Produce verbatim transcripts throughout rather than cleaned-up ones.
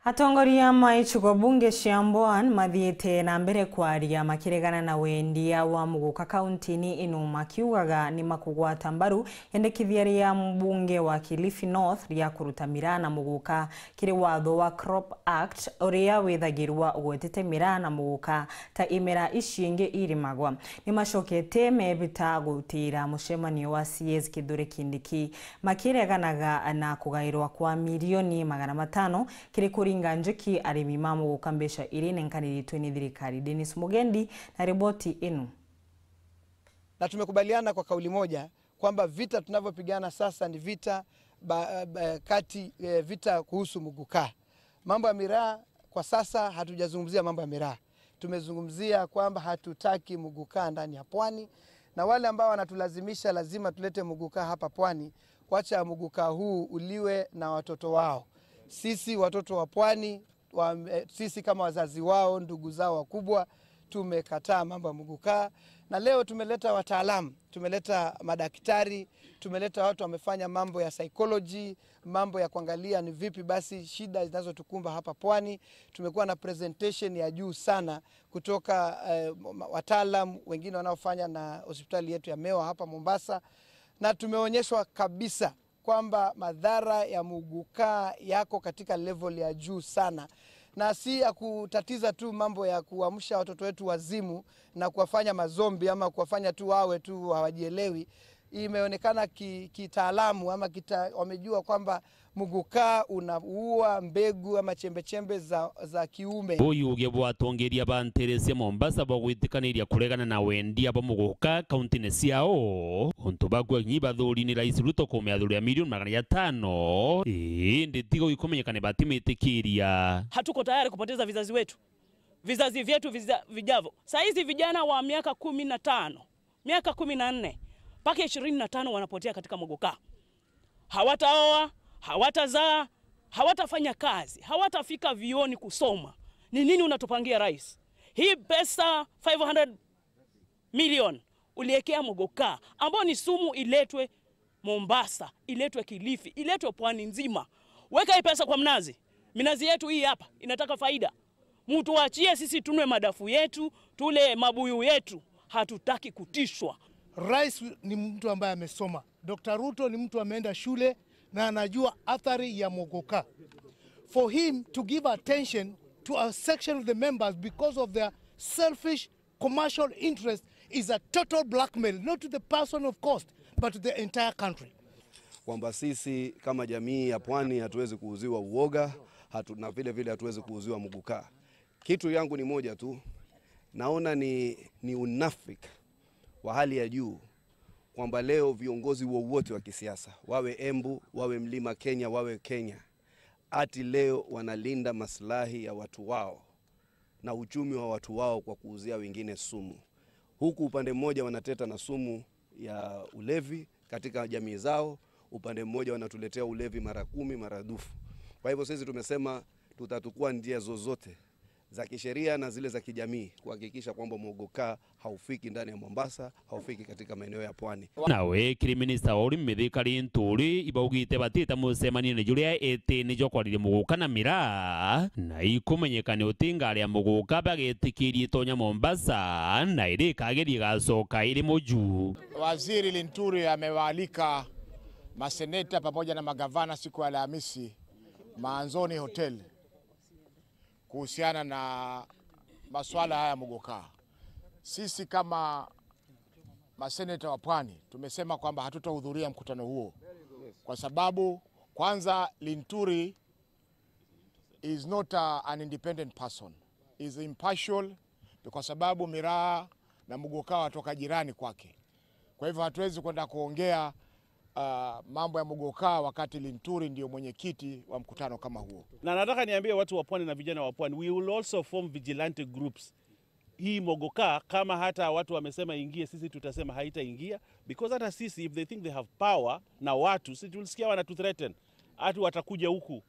Atongoria ma icigo bunge cia Mbwani mathiite na mbere kwaria makiregana na wendia wa muguka kaunti-ini ino, makiugaga ni makugwata mbaru yendekithia ria mbunge wa Kilifi North ria kuruta miraa na muguka kiri watho wa Crop Act, uria withagirwa ugwetete miraa na muguka ta imera ici ingi irimagwa. Ni macokete mebita gutira mucemanio wa C S Kithure Kindiki, makireganaga na kugairwa kwa milioni magana matano kiri kuringa njuki arimi ma muguka, mbeca iria inenkanirite ni thirikari. Dennis Mugendi na riboti ino. Na tumekubaliana kwa kauli moja kwamba vita tunavyopigana sasa ni vita ba, ba, kati, eh, vita kuhusu muguka. Mambo ya miraa, kwa sasa hatujazungumzia mambo ya miraa. Tumezungumzia kwamba hatutaki muguka ndani ya pwani, na wale ambao wanatulazimisha lazima tulete muguka hapa pwani, wacha muguka huu uliwe na watoto wao. Sisi watoto wa pwani wa, eh, sisi kama wazazi wao, ndugu zao wakubwa, tumekataa mambo ya muguka. Na leo tumeleta wataalamu, tumeleta madaktari, tumeleta watu wamefanya mambo ya psychology, mambo ya kuangalia ni vipi basi shida zinazotukumba hapa pwani. Tumekuwa na presentation ya juu sana kutoka, eh, ma-, wataalam wengine wanaofanya na hospitali yetu ya Mewa hapa Mombasa, na tumeonyeshwa kabisa kwamba madhara ya muguka yako katika level ya juu sana, na si ya kutatiza tu mambo ya kuamsha watoto wetu wazimu na kuwafanya mazombi ama kuwafanya tu wawe tu hawajielewi. Imeonekana ki-, kitaalamu ama kita-, wamejua kwamba muguka unaua mbegu ama chembechembe za, za kiume. Buyuge bwa atongeria ba nteere cia Mombasa bwagwitikaniria kuregana na wendia bwa muguka kaunti-ini ciao, untu bakuga kinya bathuuri ni Rais Ruto kumeathuria milioni magana jatano, indi tiga ikumenyeka ni batimitikiria. Hatuko tayari kupoteza vizazi wetu, vizazi vyetu viza-, vijavyo. Saa hizi vijana wa miaka kumi na tano, miaka kumi na nne mpaka ishirini na tano wanapotea katika muguka. Hawataoa, hawatazaa, hawatafanya kazi, hawatafika vioni kusoma. Ni nini unatupangia, rais? Hii pesa five hundred million uliekea muguka, ambao ni sumu, iletwe Mombasa, iletwe Kilifi, iletwe pwani nzima. Weka hii pesa kwa mnazi. Minazi yetu hii hapa inataka faida. Mtuachie sisi tunwe madafu yetu, tule mabuyu yetu. Hatutaki kutishwa. Rais ni mtu ambaye amesoma. Doctor Ruto ni mtu ameenda shule na anajua athari ya muguka. For him to give attention to a section of the members because of their selfish commercial interest is a total blackmail, not to the person, of course, but to the entire country. Kwamba sisi kama jamii ya pwani hatuwezi kuuziwa uoga, hatu-, na vile vile hatuwezi kuuziwa muguka. Kitu yangu ni moja tu, naona ni, ni unafiki wa hali ya juu kwamba leo viongozi wowote wa kisiasa, wawe Embu, wawe Mlima Kenya, wawe Kenya, ati leo wanalinda maslahi ya watu wao na uchumi wa watu wao kwa kuuzia wengine sumu. Huku upande mmoja wanateta na sumu ya ulevi katika jamii zao, upande mmoja wanatuletea ulevi mara kumi, maradufu. Kwa hivyo sisi tumesema tutatukua njia zozote za kisheria na zile za kijamii kuhakikisha kwamba muguka haufiki ndani ya Mombasa, haufiki katika maeneo ya pwani. Nawe kiri minista wa urimi Mithika Linturi ibaugite batita mucemanione juria itini jwa kwariria muguka na miraa, na ikumenyeka ni uti ngari ya muguka bagetikirie itonya Mombasa, na iria ikageria igacoka iri muju. Waziri Linturi amewaalika maseneta pamoja na magavana siku ya Alhamisi Maanzoni Hotel kuhusiana na masuala haya ya muguka. Sisi kama maseneta wa pwani tumesema kwamba hatutahudhuria mkutano huo kwa sababu kwanza Linturi is not a, an independent person, is impartial kwa sababu miraa na muguka watoka jirani kwake. Kwa hivyo hatuwezi kwenda kuongea, ah, mambo ya muguka wakati Linturi ndio mwenyekiti wa mkutano kama huo. Na nataka niambie watu wa pwani na vijana wa pwani, we will also form vigilante groups. Hii muguka, kama hata watu wamesema ingie, sisi tutasema haitaingia, because hata sisi, if they think they have power na watu, si tulisikia wanatuthreaten, ati watakuja huku.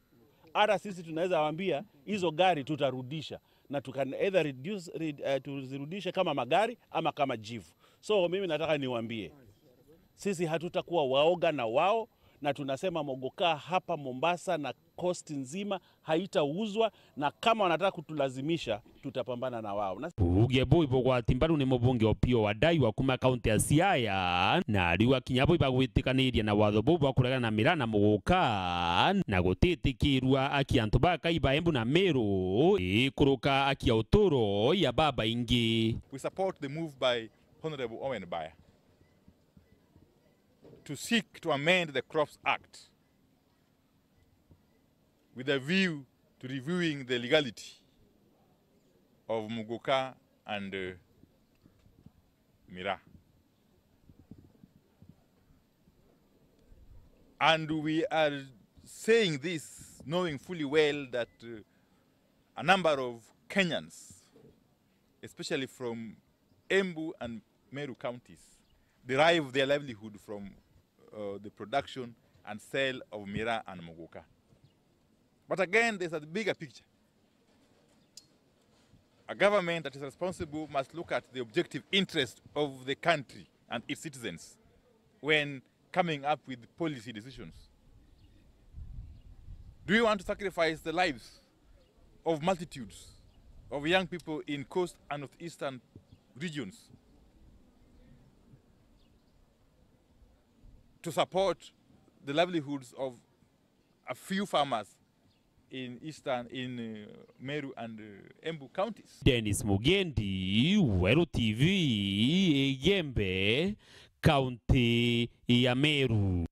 Hata sisi tunaweza waambia, hizo gari tutarudisha. Na tu can either reduce, re-, eh, tuzirudishe kama magari ama kama jivu. So mimi nataka niwaambie, sisi hatutakuwa waoga na wao, Na tunasema mogoka hapa Mombasa na coast nzima haitauzwa, na kama wanataka kutulazimisha, tutapambana na wao. Na Buge buu ibugwati mbaru ni mubunge Opiyo Wandayi wa kuma kaunti ya Siaya, na ariuga kinya bo ibagwitikaniria na watho buu bwa kuregana na miraa na muguka, na gutitikirua aki antu bakai ba Embu na Meru ikuruka aki ya uturo ya babaingi. We support the move by Honorable Owen Baya to seek to amend the Crops Act with a view to reviewing the legality of muguka and, uh, miraa. And we are saying this knowing fully well that, uh, a number of Kenyans, especially from Embu and Meru counties, derive their livelihood from, uh, the production and sale of miraa and muguka. But again, there's a bigger picture. A government that is responsible must look at the objective interest of the country and its citizens when coming up with policy decisions. Do we want to sacrifice the lives of multitudes of young people in coast and northeastern regions to support the livelihoods of a few farmers in eastern, in, uh, Meru and, uh, Embu counties? Dennis Mugendi, Weru T V, Igembe, kaunti ya Meru.